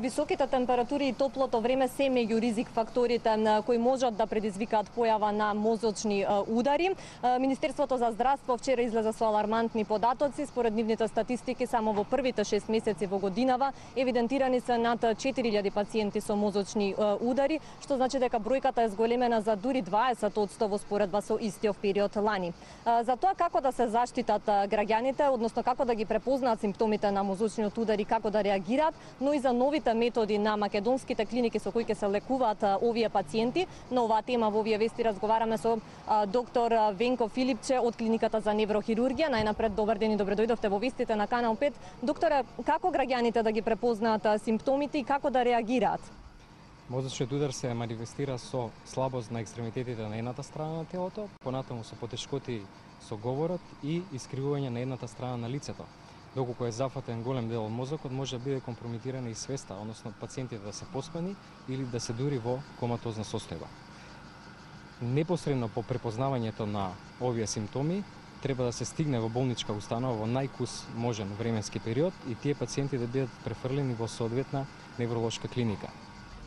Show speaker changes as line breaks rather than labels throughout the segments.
Високите температури и топлото време се меѓу ризик факторите кои можат да предизвикаат појава на мозочни удари. Министерството за здравство вчера излезе со алармантни податоци. Според нивните статистики, само во првите 6 месеци во годинава евидентирани се над 4000 пациенти со мозочни удари, што значи дека бројката е зголемена за дури 20% во споредба со истиот период лани. За тоа како да се заштитат граѓаните, односно како да ги препознаат симптомите на мозочниот удар и како да реагираат, но и за новите методи на македонските клиники со кои ќе се лекуваат овие пациенти. На оваа тема во овие вести разговараме со доктор Венко Филипче од клиниката за неврохирургија. Најнапред, добар ден и добре дојдовте во вестите на Канал 5. Докторе, како граѓаните да ги препознаат симптомите и како да реагираат?
Мозочниот удар се манифестира со слабост на екстремитетите на едната страна на телото, понатаму со потешкоти со говорот и искривување на едната страна на лицето. Доколку е зафатен голем дел од мозокот, може да биде компрометирана и свеста, односно пациентите да се поспани или да се дури во коматозна состојба. Непосредно по препознавањето на овие симптоми, треба да се стигне во болничка установа во најкус можен временски период и тие пациенти да бидат префрлени во соодветна невролошка клиника.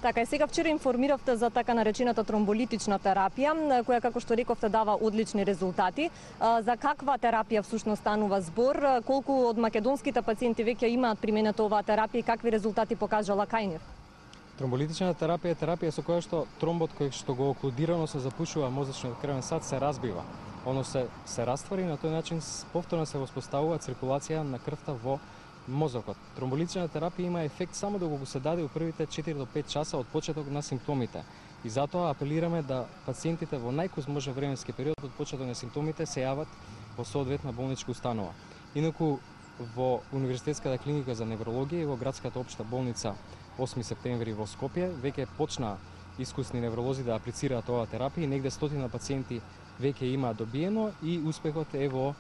Така и сега вчера информиравте за така наречената тромболитична терапија, која, како што рековте, дава одлични резултати. За каква терапија всушност станува збор? Колку од македонските пациенти веќе имаат применето оваа терапија и какви резултати покажала кај нив?
Тромболитична терапија е терапија со која што тромбот кој што го оклудирано се запушува мозочниот крвен сад се разбива. Оно се раствори и на тој начин повторно се воспоставува циркулација на крвта во мозокот. Тромболитична терапија има ефект само доколку се даде во првите 4 до 5 часа од почеток на симптомите. И затоа апелираме да пациентите во најкус можен временски период од почеток на симптомите се јават во соодветна болничка установа. Инаку во Универзитетската клиника за неврологија и во градската општа болница 8 септември во Скопје веќе почна искусни невролози да аплицираат оваа терапија и негде стотина пациенти веќе имаат добиено и успехот е во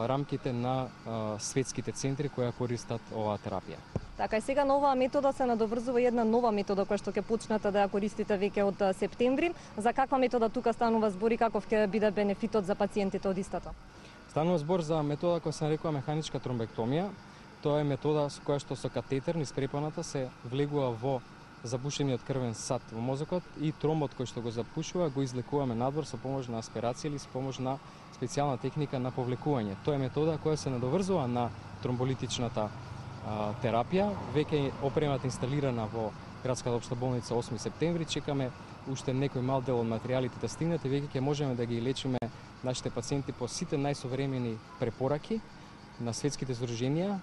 рамките на светските центри кои користат оваа терапија.
Така и сега на оваа метода се надоврзува една нова метода која што ќе почнете да ја користите веќе од септември. За каква метода тука станува збор и каков ќе биде бенефитот за пациентите од истата?
Станува збор за метода која се нарекува механичка тромбектомија. Тоа е метода со која што со катетер низ препоната се влегува во запушениот крвен сад во мозокот и тромбот кој што го запушува го излекуваме надвор со помош на аспирација или со помош на специјална техника на повлекување. Тоа е метода која се надоврзува на тромболитичната терапија. Веќе опремата инсталирана во градската општа болница 8 септември. Чекаме уште некој мал дел од материјалите да стигнат и веќе ќе можеме да ги лечиме нашите пациенти по сите најсовремени препораки на светските здруженија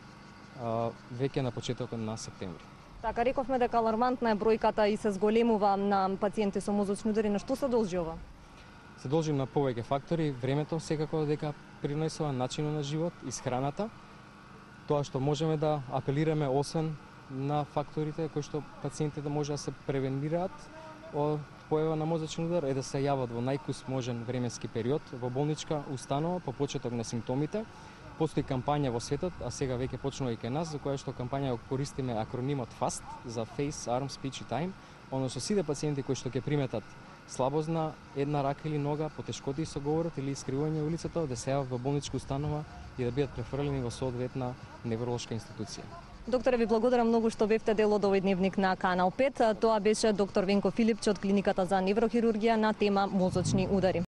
веќе на почетокот на септември.
Така, рековме дека алармантна е бројката и се зголемува на пациенти со мозочни удари. На што се должи ова?
Се должи на повеќе фактори, времето секако дека принесува, начинот на живот, исхраната. Тоа што можеме да апелираме освен на факторите кои што пациентите може да се превенираат од појава на мозочен удар е да се јават во најкус можен временски период во болничка установа по почеток на симптомите. Постои кампања во светот, а сега веќе почнува и кај нас, за која што кампања користиме акронимот FAST за Face, Arm, Speech и Time, односно сите пациенти кои што ќе приметат слабост на една рака или нога, потешкоти со говорот или искривување во лицето, да се јават во болничка установа и да бидат префрлени во соодветна невролошка институција.
Докторе, ви благодарам многу што бевте дел од овој дневник на Канал 5. Тоа беше доктор Венко Филипче од клиниката за неврохирургија на тема мозочни удари.